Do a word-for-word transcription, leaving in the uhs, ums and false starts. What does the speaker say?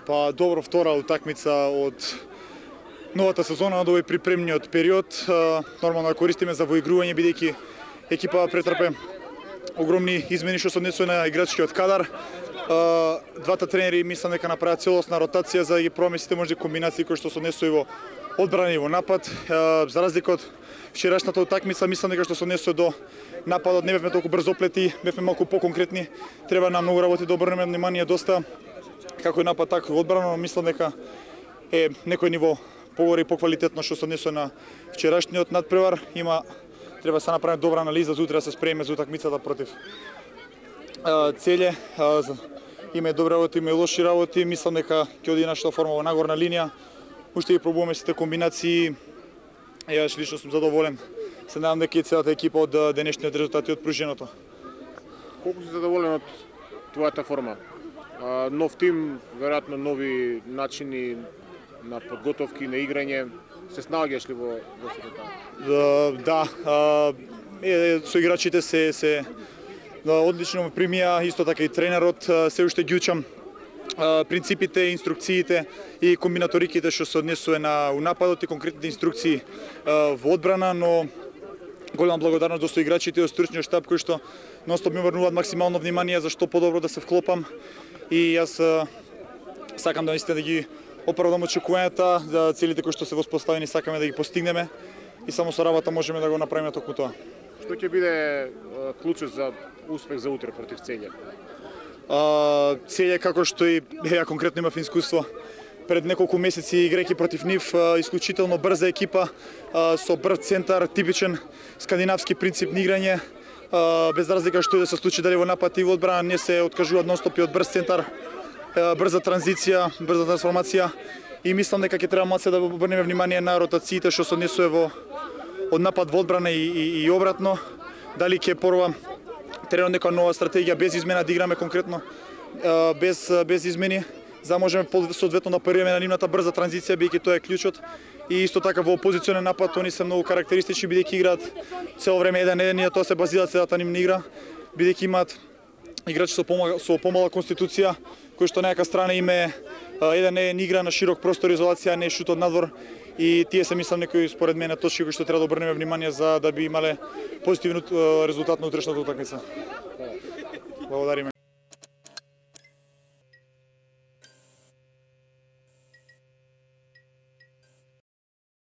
Па добро, втора утакмица од новата сезона, од овој припремниот период. Нормално ја користиме за воигрување, бидејќи екипа претрпе огромни измени што се однесува на играчкиот кадар. Двата тренери мислам дека направат целосна ротација за да ги промислите може комбинации кои што се однесува и во одбрана и во напад. За разлика од вчерашната утакмица, мислам дека што се однесува до нападот не бевме толку брзо оплети, бевме малку поконкретни. Треба на многу работи да обрнеме внимание доста како и напад, така и одбрана, но мислам дека е некој ниво погоре и поквалитетно што се однесува на вчерашниот надпревар. Има треба да се направи добра анализа за утре да се спреме за утакмицата против Целје. Има и добри работи, има и лоши работи. Мислам дека ќе оди нашата форма во нагорна линија. Уште ги пробуваме сите комбинации. Јас лично сум задоволен. Се надам дека и целата екипа од денешниот резултат и од пруженото. Колку си задоволен од твојата форма? Нов тим, веројатно нови начини на подготовки, на играње. Се снаоѓаш ли во во сето тоа? Да, да. Со играчите се се одлично ме примија, исто така и тренерот, се уште ги учам принципите, инструкциите и комбинаториките што се однесува на нападот и конкретните инструкции во одбрана, но голема благодарност до соиграчите и од стручниот штаб кои што нонстоп ми обрнуваат максимално внимание за што подобро да се вклопам и јас сакам да наистина да ги оправдам очекувањата, за целите кои што се воспоставени сакаме да ги постигнеме и само со работа можеме да го направиме токму тоа. Што ќе биде клучот за успех за утре против Целје? Целје, како што и ја конкретно имав искуство пред неколку месеци играјќи против нив, исклучително брза екипа со брз центар, типичен скандинавски принцип на играње, без разлика што и да се случи дали во напад и во одбрана, не се откажуваат нонстоп и од брз центар, брза транзиција, брза трансформација и мислам дека ќе треба малце да обрнеме внимание на ротациите што се однесува во од напад во одбрана и, и, и обратно. Дали ќе порва тренерот нека нова стратегија без измена да играме конкретно без без измени, за да можеме соодветно да парираме на нивната брза транзиција, бидејќи тоа е клучот. И исто така во опозиционен напад они се многу карактеристични, бидејќи играат цело време еден еден и тоа се базира целата нивна игра, бидејќи имаат играчи со помала со помала конституција, кои што на некака страна име еден еден игра на широк простор, изолација, не шут од надвор. И тие се мислам некои според мене точки кои што треба да обрнеме внимание за да би имале позитивен резултат на утрешната утакмица. Благодариме.